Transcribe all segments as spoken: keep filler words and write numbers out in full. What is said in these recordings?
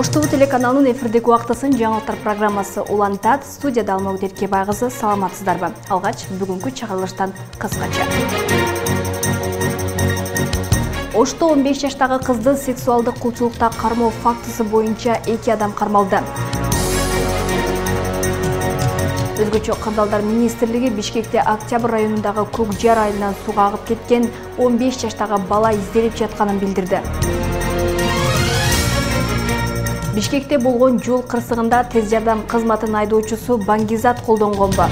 Ош ТВ телеканалынын эфирдеги убактысын жаңылыктар программасы улантат. Студияда Алмагүл Эркебайкызы, саламатсыздарбы? Алгач бүгүнкү чыгарылыштан кыскача. Ошто он беш жаштагы кызды сексуалдык кулчулукта кармоо фактысы боюнча эки адам кармалды. Өзгөчө Кырдаалдар министрлиги Бишкекте Октябрь районундагы Көк Жар айылынан суга агып кеткен он беш жаштагы бала изделип жатканын билдирди. Бишкекте болгон жол кырсыгында тез жардам кызматынын айдоочусу баңгизат колдонгонбу?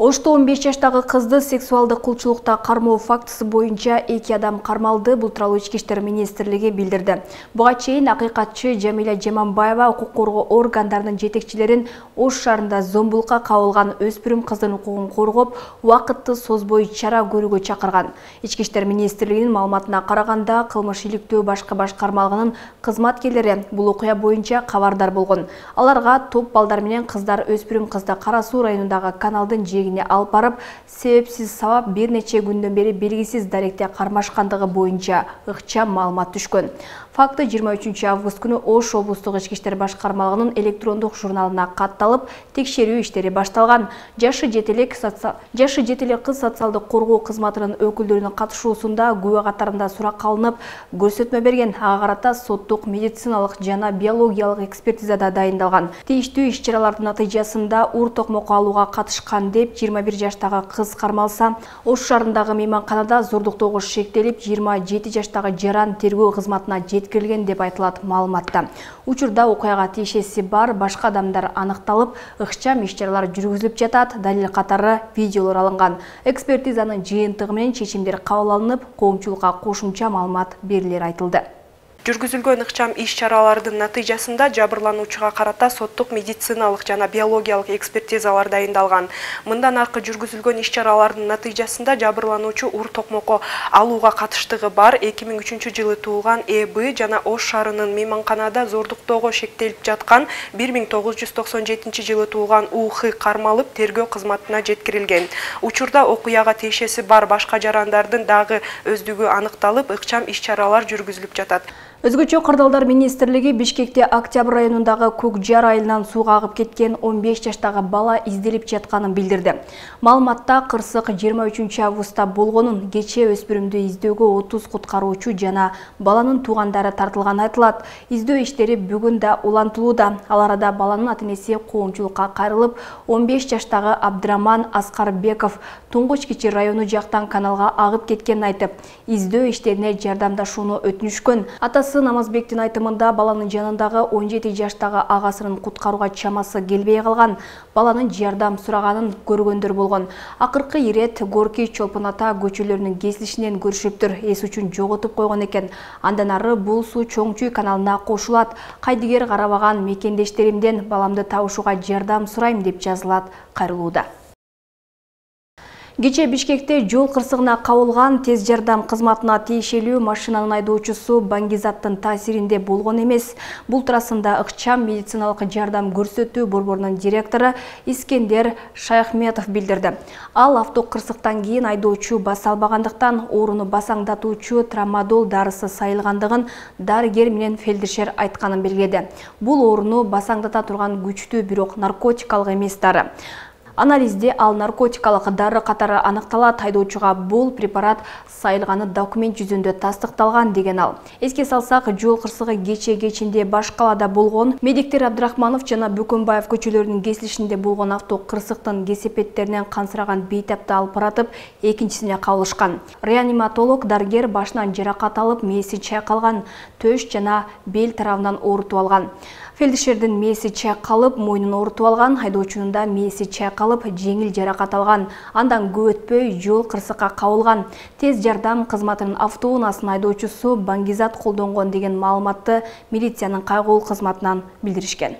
Ошто он беш жаштагы кызды сексуалдык кулчулукта кармоо фактысы боюнча эки адам кармалды. Бул тууралуу Ички иштер министрлиги билдирди. Буга чейин акыйкатчы Жамиля Жаманбаева укук коргоо органдарынын жетекчилерин Ош шаарында зомбулукка кабылган өспүрүм кыздын укугун коргоп, убакытты созбой чара көрүүгө чакырган. Ички иштер министрлигинин маалыматына караганда, кылмыш иликтөө башкы башкармалыгынын кызматкерлери бул окуя боюнча кабардар болгон. Аларга топ балдар менен кыздар өспүрүм кызды Кара Суу районундагы каналдын жээгине алып барып, себепсиз сабап бир нече күндөн бери белгисиз даректе кармашкандыгы боюнча ыкчам маалымат түшкөн. Факты жыйырма үчүнчү август күнү Ош облустук ички иштер башкармалыгынын электрондук журналына катталып, текшерүү иштери башталган. Жашы жетелек жашы жетелек кыз социалдык коргоо кызматынын өкүлдөрүнүн катышуусунда күбө катарында суракка алынып, көрсөтмө берген. Ага карата соттук, медициналык жана биологиялык экспертизада дайындалган. Тийиштүү иш-чаралардын натыйжасында ур токмокко алууга катышкан деп жыйырма бир жаштагы кыз кармалса, Ош шаарындагы мейманканада зордуктоого шектелип, жыйырма жети жаштагы жаран тергөө кызматына жеткирилген деп айтылат маалыматта. Учурда окуяга тиешеси бар башка адамдар аныкталып, ыкчам иш-чаралар жүргүзүлүп жатат. Далил катары видеолор алынган. Экспертизанын жыйынтыгы менен чечимдер кабыл алынып, коомчулукка кошумча маалымат берилери айтылды. Жүргүзүлгөн ыкчам иш-чаралардын натыйжасында жабырлануучуга карата соттук, медициналык жана биологиялык экспертизалар дайындалган. Мындан аркы жүргүзүлгөн иш-чаралардын натыйжасында жабырлануучу ур токмокко алууга катыштыгы бар эки миң үчүнчү жылы туулган Э Б жана Ош шаарынын мейманканада зордуктоого шектелип жаткан бир миң тогуз жүз токсон жетинчи жылы туулган У Х кармалып, тергөө кызматына жеткирилген. Учурда окуяга тиешеси бар башка жарандардын дагы өздүгү аныкталып, ыкчам иш-чаралар жүргүзүлүп жатат. Өзгөчө Кырдаалдар министрлиги Бишкекте Октябрь районундагы Көк Жар айылынан сууга агып кеткен он беш жаштагы бала изделип жатканын билдирди. Маалыматта кырсык жыйырма үчүнчү августта болгонун, кечээ өспүрүмдү издөөгө отуз куткаруучу жана баланын туугандары тартылганы айтылат. Издөө иштери бүгүн да улантылууда. Ал арада баланын ата-энеси коомчулукка кайрылып, он беш жаштагы Абдыраман Аскарбеков Туңгуч Кичи району жактан каналга агып кеткенин айтып, издөө иштерине жардамдашууну өтүнүшкөн. Атасы Намазбектин айтымында баланын жанындагы он жети жаштагы агасынын куткарууга чамасы келбей калган, баланын жардам сураганын көргөндөр болгон. Акыркы ирет Горки Чолпон ата көчөлөрүнүн кесилишинен көрүшүптүр, эс үчүн жоготуп койгон экен. Андан ары бул суу Чоң Чүй каналына кошулат. Кайдыгер карабаган мекендештеримден баламды табышууга жардам сурайм деп жазылат кайрылууда. Кечээ Бишкекте жол кырсыгына кабылган тез жардам кызматына тиешелүү машинанын айдоочусу баңгизаттын таасиринде болгон эмес. Бул туурасында ыкчам медициналык жардам көрсөтүү борборунун директору Искендер Шайхметов билдирди. Ал автокырсыктан кийин айдоочу баса албагандыктан ооруну басаңдатуучу трамадол дарысы сайылгандыгын дарыгер менен фельдшер айтканын белгиледи. Бул ооруну басаңдата турган күчтүү, бирок наркотикалык эмес дары. Анализде ал наркотикалык дары катары аныкталат. Айдоочуга бул препарат сайылганы документ жүзүндө тастыкталган деген ал. Эске салсак, жол кырсыгы кечээ кечинде баш калаада болгон. Медиктер Абдрахманов жана Бөкөнбаев көчөлөрүнүн кесилишинде болгон автокырсыктын кесепеттеринен кансыраган бейтапты алып баратып, экинчисине кабылышкан. Реаниматолог дарыгер башынан жаракат алып, мээси чайкалган, төш жана бел тарабынан оорутуп алган. Фельдшердин мээси чайкалып, мойнун оорутуп алган, айдоочунун да мээси чайкалып, жеңил жаракат алган. Андан көп өтпөй жол кырсыкка кабылган. Тез жардам кызматынын автоунаасынын айдоочусу баңгизат колдонгон деген маалыматты милициянын кайгылуу кызматынан билдиришкен.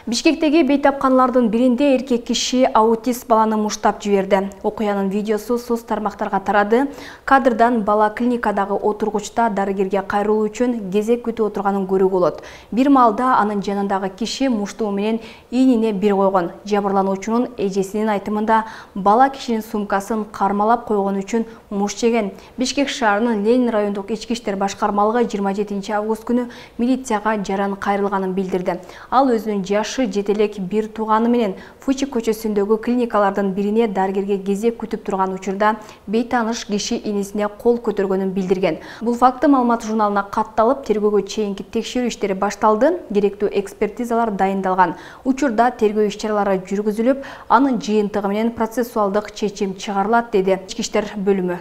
Бишкектеги бейтапканалардын биринде эркек киши аутист баланы муштап жиберди. Окуянын видеосу соц тармактарга тарады. Кадрдан бала клиникадагы отургучта дарыгерге кайрылуу үчүн кезек күтүп отурганын көрүүгө болот. Бир маалда анын жанындагы киши муштуу менен ийнине бир койгон. Жабырлануучунун эжесинин айтымында бала кишинин сумкасын кармалап койгон үчүн муш жеген. Бишкек шаарынын Ленин райондук ички иштер башкармалыгы жыйырма жетинчи август күнү милицияга жаран кайрылганын билдирди. Ал өзүнүн жашы жетелек бир тууганы менен Фучик көчөсүндөгү клиникалардын бирине дарыгерге кезек күтүп турган учурда бейтаныш киши инисине кол көтөргөнүн билдирген. Бул факты Маалымат журналына катталып, тергөөгө чейинки текшерүү иштери башталды. Керектүү экспертизалар дайындалган. Учурда тергөө иш-чаралары жүргүзүлүп, анын жыйынтыгы менен процессуалдык чечим чыгарылат, деди Ички иштер бөлүмү.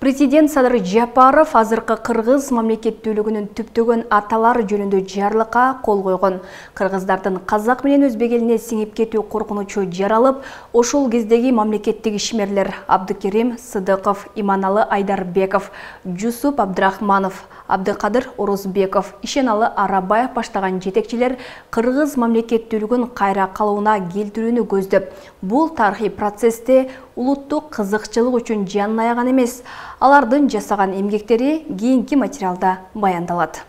Президент Садыр Жапаров азыркы кыргыз мамлекеттүүлүгүнүн түптөгөн аталары жөнүндө жарлыкка кол койгон. Кыргыздардын казак менен өзбек элине сиңип кетүү коркунучу жаралып, ошол кездеги мамлекеттик ишмерлер Абдыкерим Сыдыков, Иманалы Айдарбеков, Жусуп Абдрахманов, Абдыкадыр Орозбеков, Ишеналы Арабаев баштаган жетекчилер кыргыз мамлекеттүүлүгүн кайра калыбына келтирүүнү көздөп, бул тарыхый процессте улуттук кызыкчылык үчүн жанын аяган эмес. Алардын жасаган эмгектери кийинки материалда баяндалат.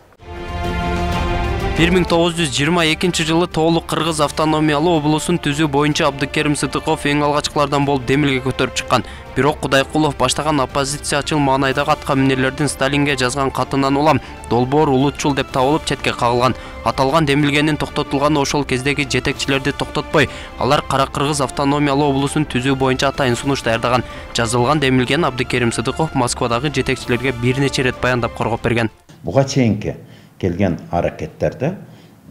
бир миң тогуз жүз жыйырма экинчи жылы толук кыргыз автономиялуу облусун түзүү боюнча Абдыкерим Сыдыков эң алгачкылардан болуп демилге көтөрүп чыккан. Бирок Кудайкулов баштаган оппозициячыл маанайдагы атка минерлердин Сталинге жазган катынан улам долбоор улутчул деп табылып четке кагылган. Аталган демилгенин токтотулганы ошол кездеги жетекчилерди токтотпой, алар Кара Кыргыз автономиялуу облусун түзүү боюнча атайын сунуш даярдаган. Жазылган демилгени Абдыкерим Сыдыков Москвадагы жетекчилерге бир нече рет баяндап коргоп берген. Буга чейинки келген аракеттерде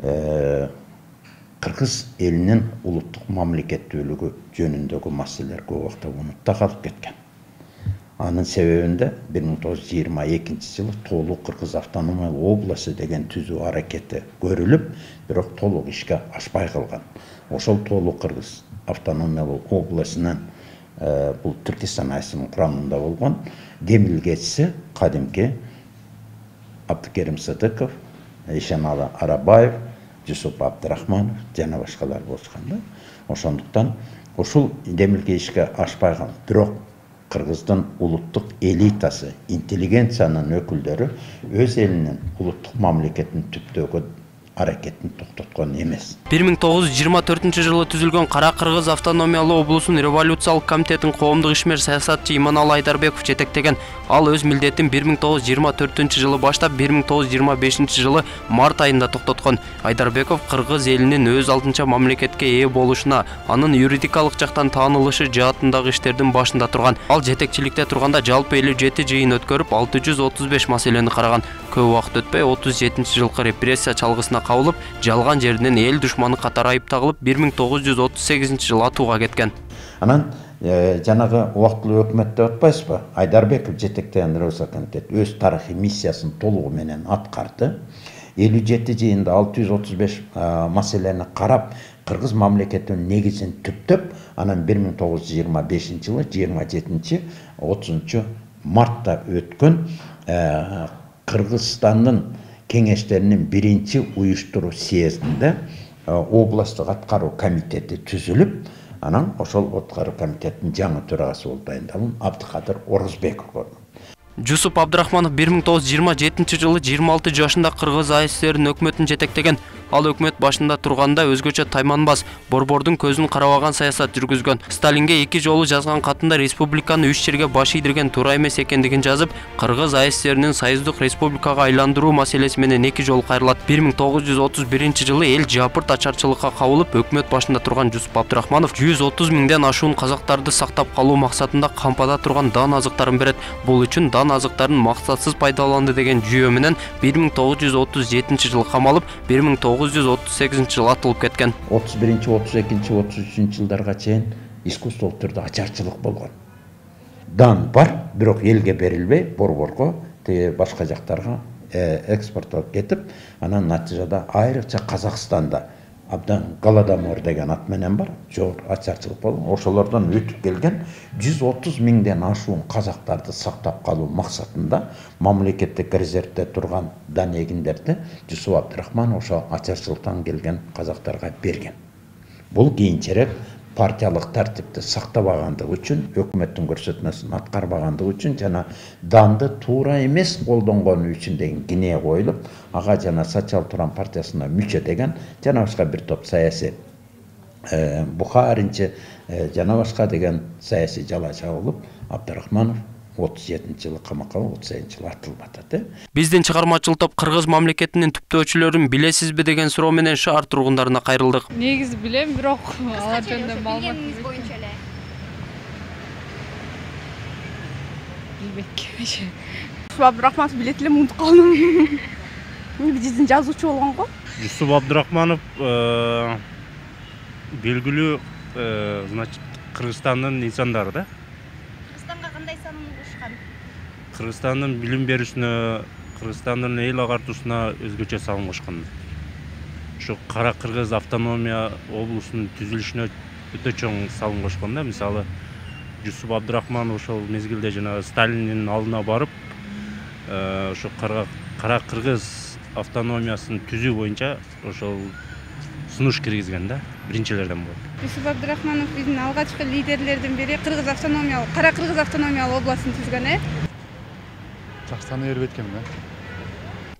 э, кыргыз элинин улуттук мамлекеттүүлүгү жөнүндөгү маселелер көп убакта унутта калып кеткен. Анын себебинде бир миң тогуз жүз жыйырма экинчи жылы толук кыргыз автономиялуу облусу деген түзүү аракети көрүлүп, бирок толук ишке ашпай калган. Ошол толук кыргыз автономиялуу облусунун э, бул Түркистан айсынын курамында болгон демилгечиси кадимки Абдыкерим Сыдыков, Ишеналы Арабаев, Жусуп Абдрахманов жана башкалар болушканда. Ошондуктан ушул демилге ишке ашпай калган. Бирок кыргыздын улуттук элитасы, интеллигенциянын өкүлдөрү өз элинин улуттук мамлекетин түптөгөн аракетин токтоткон эмес. бир миң тогуз жүз жыйырма төртүнчү жылы түзүлгөн Кара Кыргыз автономиялуу облусун революциялык комитеттин коомдук ишмер саясатчы Иманалы Айдарбеков жетектеген. Ал өз милдетин бир миң тогуз жүз жыйырма төртүнчү жылы баштап бир миң тогуз жүз жыйырма бешинчи жылы март айында токтоткон. Айдарбеков кыргыз элинин өз алдынча мамлекетке ээ болушуна, анын юридикалык жактан таанылышы жаатындагы иштердин башында турган. Ал жетекчиликте турганда жалпы элүү жети жыйын өткөрүп, алты жүз отуз беш маселени караган. Көп убакыт өтпөй отуз жетинчи жылкы репрессия чалгысына кабылып, жалган жеринен эл душманы катары айыпталып, бир миң тогуз жүз отуз сегизинчи жылы атууга кеткен. Анан э, жанагы убактылуу өкмөттө отпайсызбы? Айдарбеков жетектеген Революция комитет өз тарыхый миссиясын толугу менен аткарды. элүү жети жыйында алты жүз отуз беш маселени карап, кыргыз мамлекетинин негизин түптөп, анан бир миң тогуз жүз жыйырма бешинчи жылы жыйырма жетинчи отузунчу мартта өткөн э, Кыргызстандын кеңештеринин биринчи уюштуруу съездинде областтык аткаруу комитети түзүлүп, анан ошол аткаруу комитеттин жаңы төрагасы болуп дайындалган Абдыкадыр Орозбеков болду. Жусуп Абдрахманов бир миң тогуз жүз жыйырма жетинчи жылы жыйырма алты жашында Кыргыз А С Р'нин өкмөтүн жетектеген. Ал өкмөт башында турганда өзгөчө тайманбас, борбордун көзүн карабаган саясат жүргүзгөн. Сталинге эки жолу жазган катында республиканы үч жерге баш ийдирген туура эмес экендигин жазып, Кыргыз А С Р'нин союздук республикага айландыруу маселеси менен эки жолу кайрылат. бир миң тогуз жүз отуз биринчи жылы эл жапырт ачарчылыкка кабылып, өкмөт башында турган Жусуп Абдрахманов жүз отуз миңден ашуун казактарды сактап калуу максатында кампада турган дан азыктарын берет. Бул үчүн дан азыктарын максатсыз пайдаланды деген жүйө менен бир миң тогуз жүз отуз жетинчи жылы камалып, бир миң тогуз жүз отуз сегизинчи жылы атылып кеткен. отуз биринчи, отуз экинчи, отуз үчүнчү жылдарга чейин искусстволук түрдө ачарчылык болгон. Дан бар, бирок элге берилбей, борборго, тиги башка жактарга экспорттолуп кетип, анан натыйжада айрыкча Казакстанда абдан Голодомор деген ат менен бар, жор ачарчылык болгон. Ошолордон өтүп келген жүз отуз миңден ашуун казактарды сактап калуу максатында мамлекеттик резервде турган дан эгиндерди Жусуп Абдрахманов ошо ачарчылыктан келген казактарга берген. Бул кийинчерээк партиялык тартипти сактабагандыгы үчүн, өкмөттүн көрсөтмөсүн аткарбагандыгы үчүн жана данды туура эмес колдонгону үчүн деген кине коюлуп, ага жана Сачал Туран партиясына мүчө деген жана башка бир топ саясий Бухаринчи жана башка деген саясий жала чабылып, Абдрахманов отуз жетинчи жылы камакка, отуз сегизинчи жылы атылып атат. Биздин чыгармачыл топ кыргыз мамлекетинин түптөөчүлөрүн билесизби деген суроо менен шаар тургундарына кайрылдык. Негизи билем, бирок алар жөнүндө маалымат боюнча эле. Билбек. Жусуп Абдрахманов билет элем, унутуп калдым. Биздин жазуучу болгон го. Жусуп Абдрахманов белгилүү, значит, Кыргызстандын инсандары да. Кыргызстандын билим берүүсүнө, Кыргызстандын эл агартуусуна өзгөчө салым кошкон. Ушу Кара Кыргыз автономия облусунун түзүлүшүнө өтө чоң салым кошкон да. Мисалы, Жусуп Абдрахманов ошол мезгилде жана Сталиндин алдына барып, ошо Кара Кыргыз автономиясын түзүү боюнча ошол сунуш киргизген да, биринчилерден болот. Жусуп Абдрахманов биздин алгачкы лидерлердин бири, Кыргыз автономиялык, Кара Кыргыз автономиялык областын түзгөн, э? Жакшаны берип эткем да.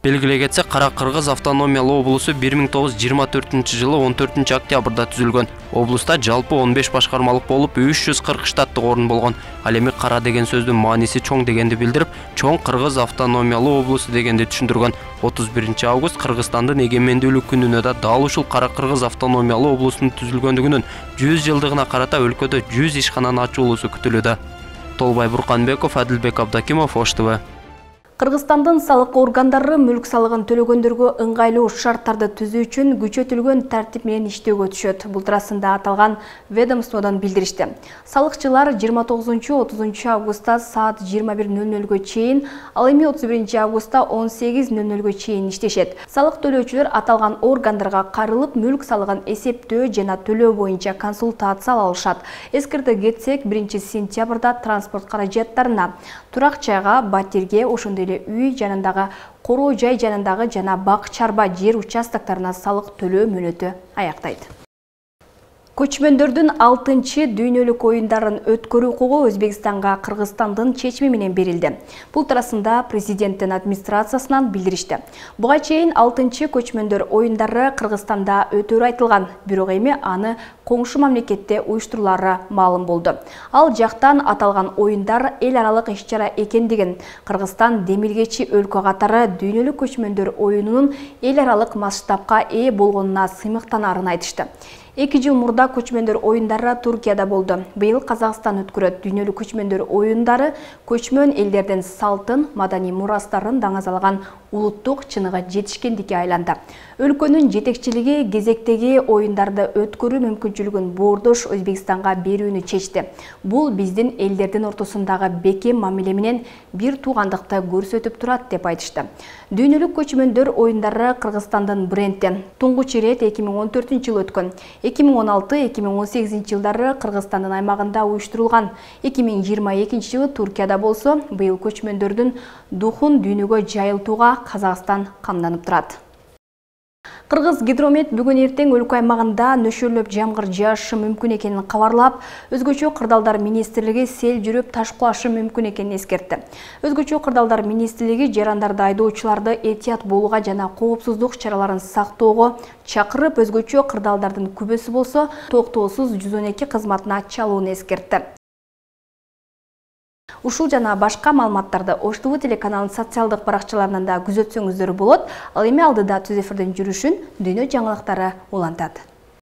Белгилей кетсек, Кара Кыргыз автономиялуу облусу бир миң тогуз жүз жыйырма төртүнчү жылы он төртүнчү октябрда түзүлгөн. Облуста жалпы он беш башкармалык болуп, үч жүз кырк штаттык орун болгон. Ал эми кара деген сөздүн мааниси чоң дегенди билдирип, чоң Кыргыз автономиялуу облусу дегенди түшүндүргөн. отуз биринчи август Кыргызстандын эгемендүүлүк күнүнө да дал ушул Кара Кыргыз автономиялуу облусунун түзүлгөндүгүнүн жүз жылдыгына карата өлкөдө жүз ишкананы ачуулуусу күтүлүүдө. Толбай Бурканбеков, Адилбек Абдакимов, Ош ТВ. Кыргызстандын салык органдары мүлк салыгын төлөгөндөргө ыңгайлуу шарттарды түзүү үчүн күчөтүлгөн тартип менен иштөөгө түшөт. Бул туурасында аталган ведомстводон билдиришти. Салыкчылар жыйырма тогузунчу отузунчу августта саат жыйырма бир нөл нөлгө чейин, ал эми отуз биринчи августта он сегиз нөл нөлгө чейин иштешет. Салык төлөөчүлөр аталган органдарга кайрылып, мүлк салыгын эсептөө жана төлөө боюнча консультация ала алышат. Эскерте кетсек, биринчи сентябрда транспорт каражаттарына, турак жайга, батирге, ошондой эле үй жанындагы короо жай жанындагы жана бак чарба жер участоктарына салык төлөө мөөнөтү аяктайт. Көчмөндөрдүн алтынчы дүйнөлүк оюндарын өткөрүү укугу Өзбекстанга Кыргызстандын чечими менен берилди. Бул туурасында президенттин администрациясынан билдиришти. Буга чейин алтынчы көчмөндөр оюндары Кыргызстанда өтөрү айтылган, бирок эми аны коңшу мамлекетте уюштурулары маалым болду. Ал жактан аталган оюндар эл аралык иш-чара экендигин, Кыргызстан демилгечи өлкө катары дүйнөлүк көчмөндөр оюнунун эл аралык масштабка ээ болгонуна сыймыктанарын айтышты. эки жыл мурда көчмөндөр оюндары Туркияда болду. Быйыл Казакстан өткөрөт. Дүйнөлүк көчмөндөр оюндары көчмөн элдердин салтын, маданий мурастарын даңазалаган улуттук чыныгы жетишкендикке айланды. Өлкөнүн жетекчилиги кезектеги оюндарды өткөрүү мүмкүнчүлүгүн боордош Өзбекстанга берүүнү чечти. Бул биздин элдердин ортосундагы бекем мамиле менен бир туугандыкты көрсөтүп турат деп айтышты. Дүйнөлүк көчмөндөр оюндары Кыргызстандын бренди. Туңгуч ирет эки миң он төртүнчү жылы өткөн. эки миң он алты эки миң он сегизинчи жылдары Кыргызстандын аймагында уюштурулган. эки миң жыйырма экинчи жылы Туркияда болсо, быйыл көчмөндөрдүн духун дүйнөгө жайылтууга Казакстан камданып турат. Кыргыз гидромет бүгүн эртең өлкө аймагында нөшөрлөп жамгыр жаашы мүмкүн экенин кабарлап, өзгөчө кырдаалдар министрлиги сел жүрүп таш кулашы мүмкүн экенин эскертти. Өзгөчө кырдаалдар министрлиги жарандарды айдоочуларды этият болууга жана коопсуздук чараларын сактоого чакырып, өзгөчө кырдаалдардын күбөсү болсо токтоосуз жүз он эки кызматына чалууну эскертти. Ушул жана башка маалыматтарды Ош ТВ телеканалынын социалдык баракчаларынан да күзөтсөңүздөр болот. Ал эми алдыда түз эфирдин жүрүшүн дүйнө жаңылыктары улантат.